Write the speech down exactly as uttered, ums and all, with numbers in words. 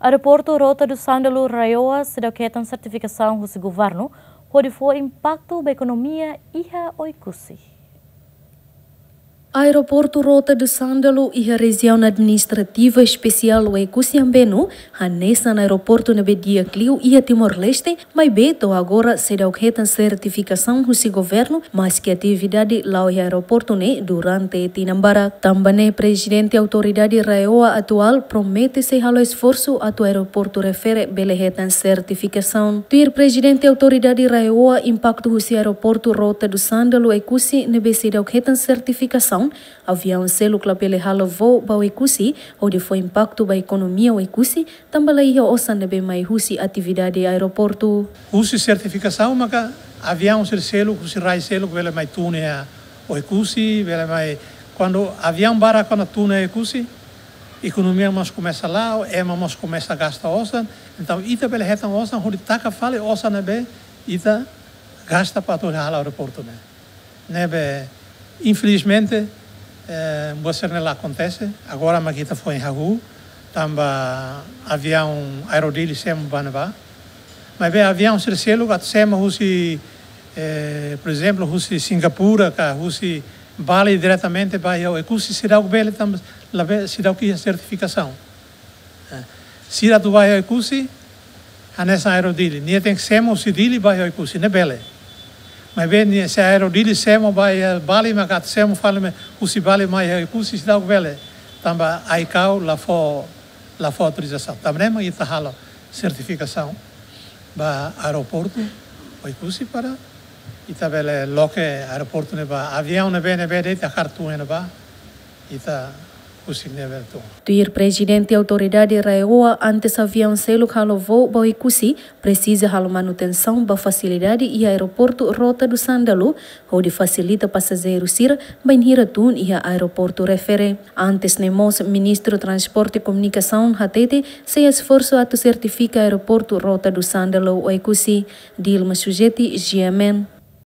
Aeroportu Rota do Sândalo RAEOA seidauk hetan sertifikasaun husi governu hodi fó impaktu ba ekonomia iha Oekusi. Aeroportu Rota do Sândalo iha Rejiaun Administrativa Espesiál Oekusi Ambeno, hanesan aeroportu ne'ebé di'ak liu iha Timor-Leste, maibé to'o agora seidauk hetan sertifikasaun husi governu, maski atividade la'o iha aeroportu ne'e durante tinan barak. Tanba ne'e Prezidente Autoridade RAEOA atuál promete sei halo esforsu atu aeroportu refere bele hetan sertifikasaun. Tuir Prezidente Autoridade RAEOA, impaktu husi aeroportu Rota do Sândalo Oekusi ne'ebé seidauk hetan sertifikasaun, aviaun seluk labele halo voo ba Oekusi, hodi fó impaktu ba ekonomia Oekusi, tanba laiha osan ne'ebé mai husi atividade aeroportu. Husi sertifikasaun maka aviaun sira seluk, husi rai seluk bele mai tun iha Oekusi, bele mai, kuandu aviaun barak kuandu tun iha Oekusi, ekonomia mós komesa la'o, ema mós komesa gasta osan, entaun ita bele hetan osan hodi taka fali osan ne'ebé ita gasta para atu halo aeroportu ne'e. Ne'ebé, infelizmente, eh, buat sira-ne'e la akontese. Agora mak ita foin hahú, tanba aviaun Aero Dili semo ba ne'ebá. Maibé aviaun sira seluk atu semo husi, eh, por ezemplu, husi Singapura ka husi Bali diretamente ba iha Oekusi seidauk bele tanba labele, seidauk iha sertifikasaun. Eh, sira atu ba iha Oekusi, hanesan Aero Dili. Nia tenke semo husi Dili ba iha Oekusi, ne'e bele. Maibé nia, se Aero Dili semo ba iha Bali, maka atu semo fali mai husi Bali mai iha Oekusi seidauk bele. Tanba AICAO la fó, la fó autorizasaun. Tanba ne'e mak ita halo sertifikasaun ba aeroportu Oekusi para ita bele loke aeroportu ne'e ba aviaun ne'ebé, ne'ebé de'it hakarak tun iha ne'ebá, ita husik ne'e bele tun. Tuir Prezidente Autoridade RAEOA, antes aviaun seluk halo voo ba Oekusi, presiza halo manutensaun ba fasilidade iha aeroportu Rota do Sândalo, hodi fasilita pasajeiru sira bainhira tun iha aeroportu refere. Antes ne'e mós, Ministru Transporte e Komunikasaun hatete sei esforsu atu sertifika aeroportu Rota do Sândalo Oekusi. Dilma Sujeti, G M N.